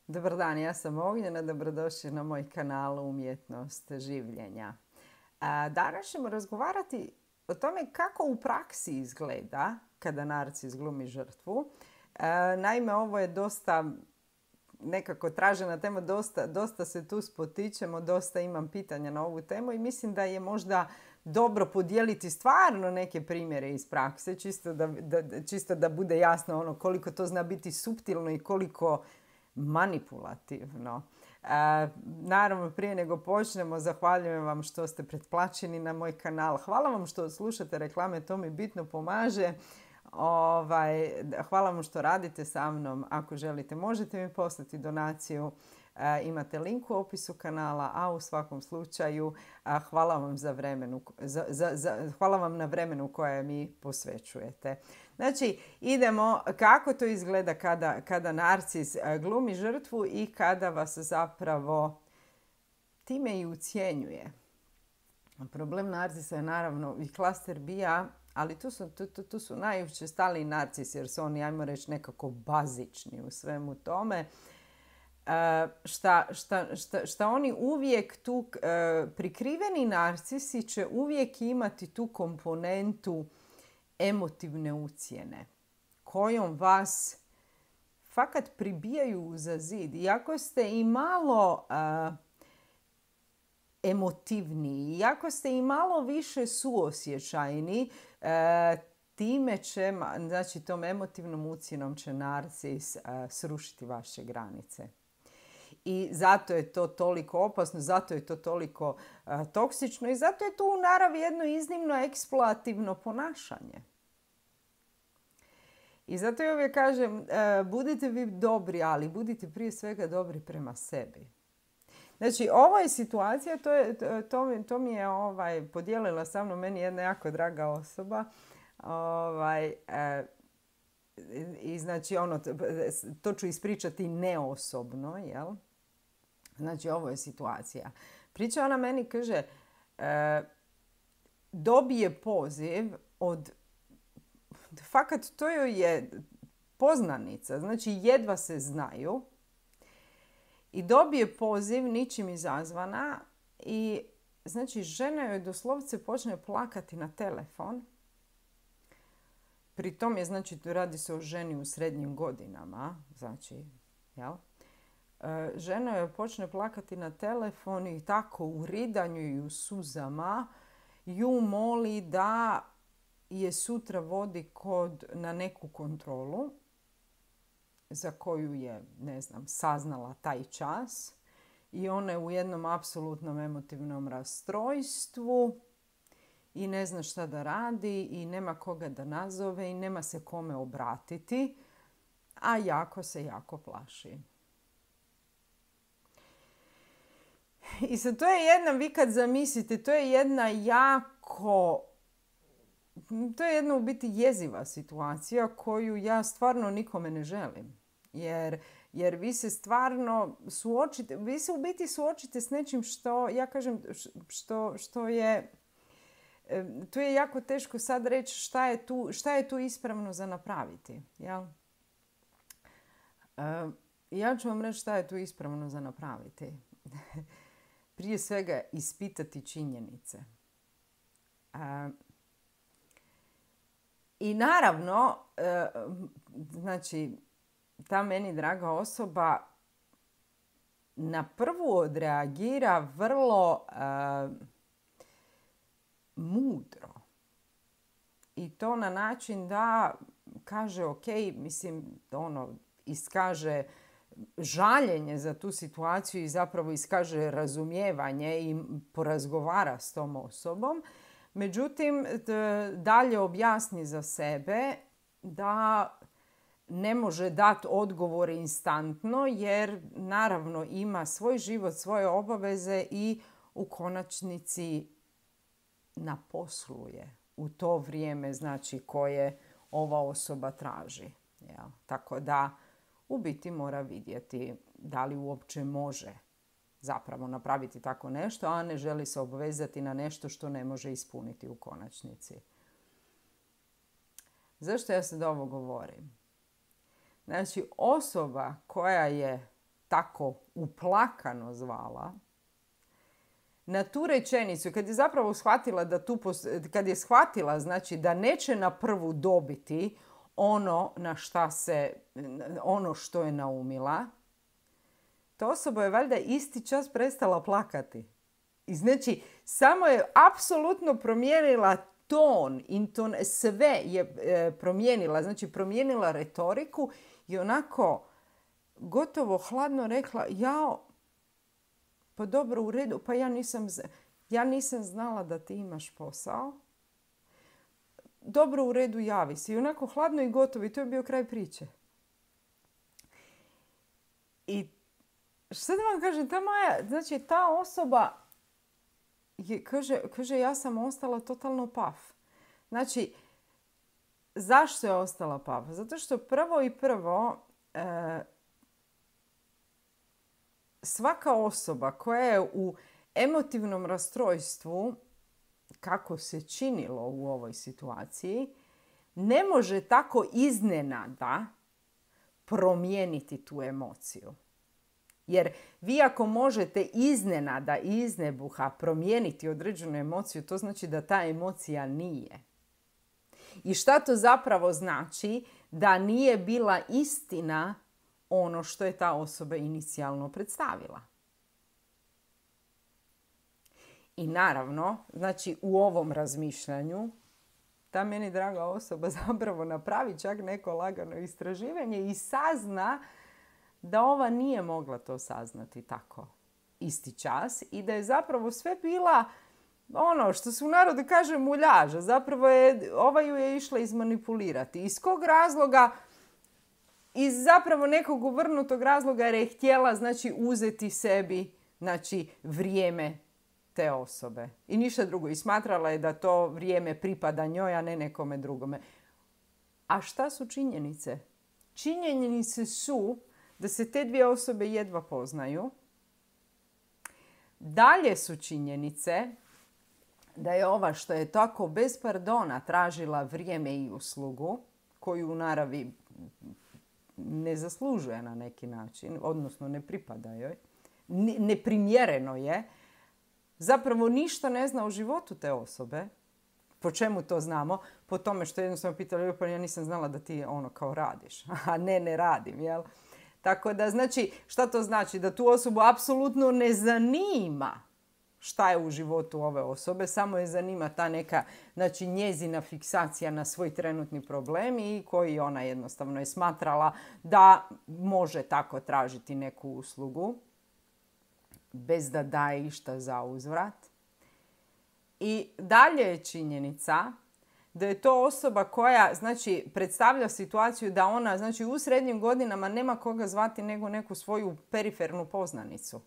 Dobar dan, ja sam Ognjena, dobrodošli na moj kanal Umjetnost življenja. Danas ćemo razgovarati o tome kako u praksi izgleda kada narcis glumi žrtvu. Naime, ovo je dosta nekako tražena tema, dosta se tu spotičemo, dosta imam pitanja na ovu temu i mislim da je možda dobro podijeliti stvarno neke primjere iz prakse, čisto da bude jasno koliko to zna biti suptilno i koliko manipulativno. Naravno, prije nego počnemo, zahvaljujem vam što ste pretplaćeni na moj kanal. Hvala vam što slušate reklame, to mi bitno pomaže. Hvala vam što radite sa mnom. Ako želite, možete mi poslati donaciju. Imate link u opisu kanala, a u svakom slučaju hvala vam, hvala vam na vremenu koje mi posvećujete. Znači, idemo kako to izgleda kada narcis glumi žrtvu i kada vas zapravo time i ucjenjuje. Problem narcisa je naravno i klaster bija, ali tu su najučestaliji narcisi jer su oni, ajmo reći, nekako bazični u svemu tome. Šta oni uvijek tu, prikriveni narcisi će uvijek imati tu komponentu emotivne ucjene kojom vas fakat pribijaju za zid. Iako ste i malo emotivniji, iako ste i malo više suosjećajni, time će, znači tom emotivnom ucjenom će narcis srušiti vaše granice. I zato je to toliko opasno, zato je to toliko toksično i zato je to u naravi jedno iznimno eksploativno ponašanje. I zato ja uvijek kažem, budite vi dobri, ali budite prije svega dobri prema sebi. Znači, ovo je situacija, to mi je podijelila sa mnom meni jedna jako draga osoba. I znači, to ću ispričati neosobno, jel? Znači, ovo je situacija. Priča ona meni, kaže, dobije poziv od, fakat to joj je poznanica, znači jedva se znaju, i dobije poziv ničim izazvana i znači žena joj doslovce počne plakati na telefon. Pri tom je, znači, radi se o ženi u srednjim godinama, znači, jel? Žena joj počne plakati na telefon i tako u ridanju i u suzama ju moli da je sutra vodi na neku kontrolu za koju je, ne znam, saznala taj čas i ona je u jednom apsolutnom emotivnom rastrojstvu i ne zna šta da radi i nema koga da nazove i nema se kome obratiti, a jako plaši. I sad to je jedna, vi kad zamislite, to je jedna u biti jeziva situacija koju ja stvarno nikome ne želim. Jer vi se stvarno suočite, vi se u biti suočite s nečim što, ja kažem, što je, tu je jako teško sad reći šta je tu ispravno za napraviti. Jel? Ja ću vam reći šta je tu ispravno za napraviti. Prije svega ispitati činjenice. I naravno, znači, ta meni draga osoba na prvu odreagira vrlo mudro. I to na način da kaže, ok, mislim, iskaže žaljenje za tu situaciju i zapravo iskaže razumijevanje i porazgovara s tom osobom. Međutim, dalje objasni za sebe da ne može dati odgovor instantno jer naravno ima svoj život, svoje obaveze i u konačnici naposluje u to vrijeme, znači, koje ova osoba traži. Jel? Tako da u biti mora vidjeti da li uopće može zapravo napraviti tako nešto, a ne želi se obvezati na nešto što ne može ispuniti u konačnici. Zašto ja sad ovo govorim? Znači, osoba koja je tako uplakano zvala, na tu rečenicu, kad je zapravo shvatila kad je shvatila znači da neće na prvu dobiti ono što je naumila, ta osoba je valjda isti čas prestala plakati. I znači, samo je apsolutno promijenila ton, sve je promijenila, znači promijenila retoriku i onako gotovo hladno rekla, pa dobro, u redu, pa ja nisam znala da ti imaš posao. Dobro, u redu, javi se. I onako hladno i gotovo. I to je bio kraj priče. I što da vam kažem, ta osoba kaže, ja sam ostala totalno paf. Znači, zašto je ostala paf? Zato što prvo svaka osoba koja je u emotivnom rastrojstvu, kako se činilo u ovoj situaciji, ne može tako iznenada promijeniti tu emociju. Jer vi ako možete iznenada i iznebuha promijeniti određenu emociju, to znači da ta emocija nije. I šta to zapravo znači? Da nije bila istina ono što je ta osoba inicijalno predstavila. I naravno, znači u ovom razmišljanju, ta meni draga osoba zapravo napravi čak neko lagano istraživanje i sazna da ova nije mogla to saznati tako isti čas i da je zapravo sve bila ono što se u narodu kaže muljaža. Zapravo ova ju je išla izmanipulirati. Iz kog razloga? Iz zapravo nekog uvrnutog razloga jer je htjela znači uzeti sebi znači vrijeme te osobe. I ništa drugo. I smatrala je da to vrijeme pripada njoj, a ne nekome drugome. A šta su činjenice? Činjenice su da se te dvije osobe jedva poznaju. Dalje su činjenice da je ova što je tako bez pardona tražila vrijeme i uslugu, koju u naravi ne zaslužuje na neki način, odnosno ne pripada joj, neprimjereno je, zapravo ništa ne zna o životu te osobe. Po čemu to znamo? Po tome što jednostavno pitala, pa ja nisam znala da ti kao radiš. A ne radim, jel? Tako da, znači, šta to znači? Da tu osobu apsolutno ne zanima šta je u životu ove osobe, samo je zanima ta neka, znači, njezina fiksacija na svoj trenutni problem i koji ona jednostavno je smatrala da može tako tražiti neku uslugu bez da daje išta za uzvrat. I dalje je činjenica da je to osoba koja znači, predstavlja situaciju da ona znači, u srednjim godinama nema koga zvati nego neku svoju perifernu poznanicu.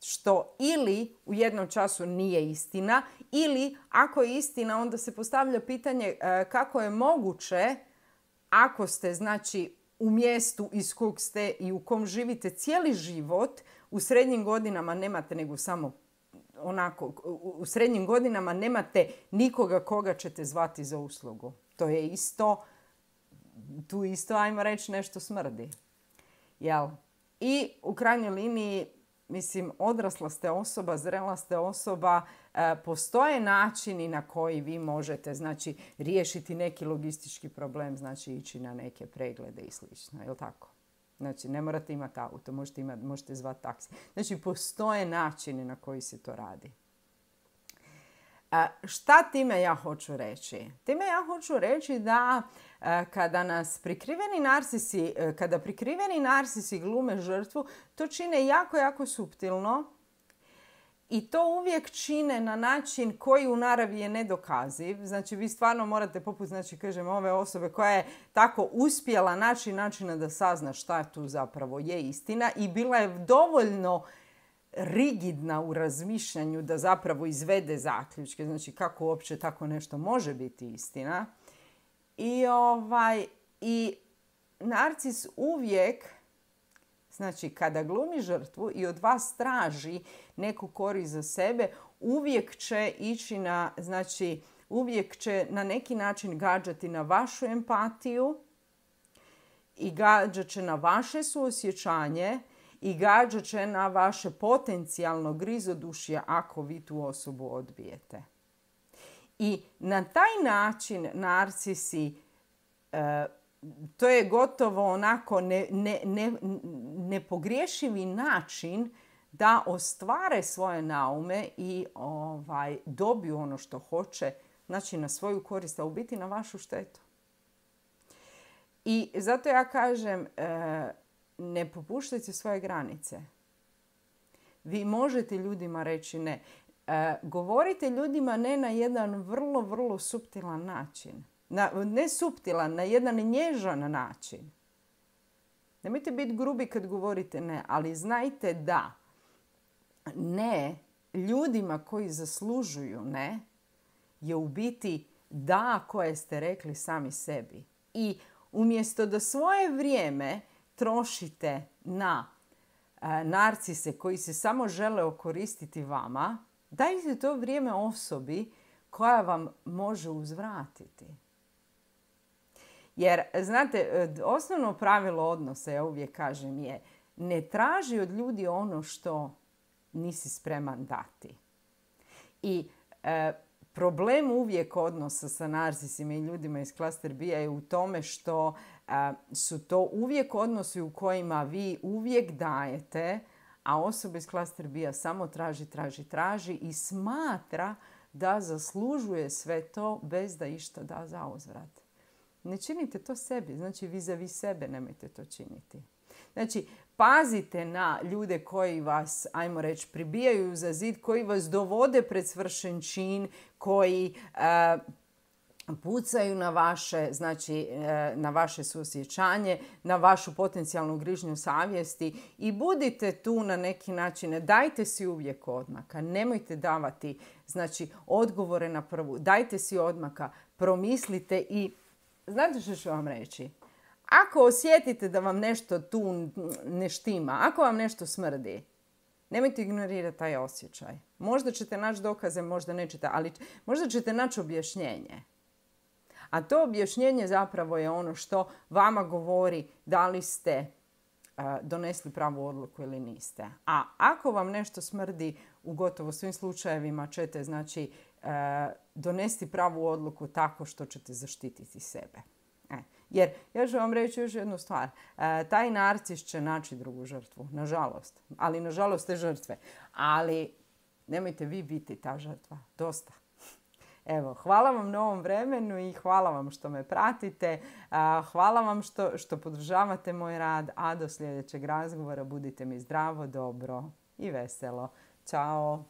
Što ili u jednom času nije istina, ili ako je istina onda se postavlja pitanje kako je moguće ako ste znači, u mjestu iz kog ste i u kom živite cijeli život, u srednjim godinama nemate nego samo onako, u srednjim godinama nemate nikoga koga ćete zvati za uslugu. To je isto, tu isto, ajmo reći, nešto smrdi. Jel? I u krajnjoj liniji, mislim, odrasla ste osoba, zrela ste osoba, postoje načini na koji vi možete, znači, riješiti neki logistički problem, znači ići na neke preglede i slično, je li tako? Znači, ne morate imati auto, možete zvati taksi. Znači, postoje načini na koji se to radi. Šta time ja hoću reći? Time ja hoću reći da kada prikriveni narsisi glume žrtvu, to čine jako, jako suptilno i to uvijek čine na način koji u naravi je nedokaziv. Znači, vi stvarno morate, poput, znači, kažem, ove osobe koja je tako uspjela naći načina da sazna šta tu zapravo je istina i bila je dovoljno rigidna u razmišljanju da zapravo izvede zaključke. Znači, kako uopće tako nešto može biti istina. I narcis uvijek, znači, kada glumi žrtvu i od vas traži neku korist za sebe, uvijek će ići uvijek će na neki način gađati na vašu empatiju i gađat će na vaše suosjećanje i gađat će na vaše potencijalno grizodušje ako vi tu osobu odbijete. I na taj način narcisi, to je gotovo onako nepogriješivi način da ostvare svoje naume i dobiju ono što hoće, znači na svoju korist, a u biti na vašu štetu. I zato ja kažem, ne popuštajte svoje granice. Vi možete ljudima reći ne. Govorite ljudima ne na jedan vrlo, vrlo suptilan način. Ne suptilan, na jedan nježan način. Nemojte biti grubi kad govorite ne, ali znajte da ne ljudima koji zaslužuju ne je u biti da koje ste rekli sami sebi. I umjesto da svoje vrijeme trošite na narcise koji se samo žele okoristiti vama, dajte to vrijeme osobi koja vam može uzvratiti. Jer, znate, osnovno pravilo odnosa, ja uvijek kažem, je ne traži od ljudi ono što nisi spreman dati. I problem uvijek odnosa sa narcisima i ljudima iz Cluster B je u tome što su to uvijek odnosi u kojima vi uvijek dajete, a osoba iz Cluster B samo traži i smatra da zaslužuje sve to bez da išta da za uzvrat. Ne činite to sebi, znači vis-a-vis sebe nemojte to činiti. Znači, pazite na ljude koji vas, ajmo reći, pribijaju za zid, koji vas dovode pred svršen čin, koji pucaju na vaše, znači na vaše suosjećanje, na vašu potencijalnu grižnju savjesti i budite tu na neki način. Dajte si uvijek odmaka, nemojte davati znači odgovore na prvu. Dajte si odmaka, promislite i znate što ću vam reći? Ako osjetite da vam nešto tu ne štima, ako vam nešto smrdi, nemojte ignorirati taj osjećaj. Možda ćete naći dokaze, možda nećete, ali možda ćete naći objašnjenje. A to objašnjenje zapravo je ono što vama govori da li ste donesli pravu odluku ili niste. A ako vam nešto smrdi, u gotovo svim slučajevima ćete znači donesti pravu odluku tako što ćete zaštititi sebe. Jer, ja ću vam reći još jednu stvar. Taj narcis će naći drugu žrtvu, nažalost. Ali nažalost te žrtve. Ali nemojte vi biti ta žrtva. Dosta. Evo, hvala vam na ovom vremenu i hvala vam što me pratite. Hvala vam što podržavate moj rad. A do sljedećeg razgovora budite mi zdravo, dobro i veselo. Ćao!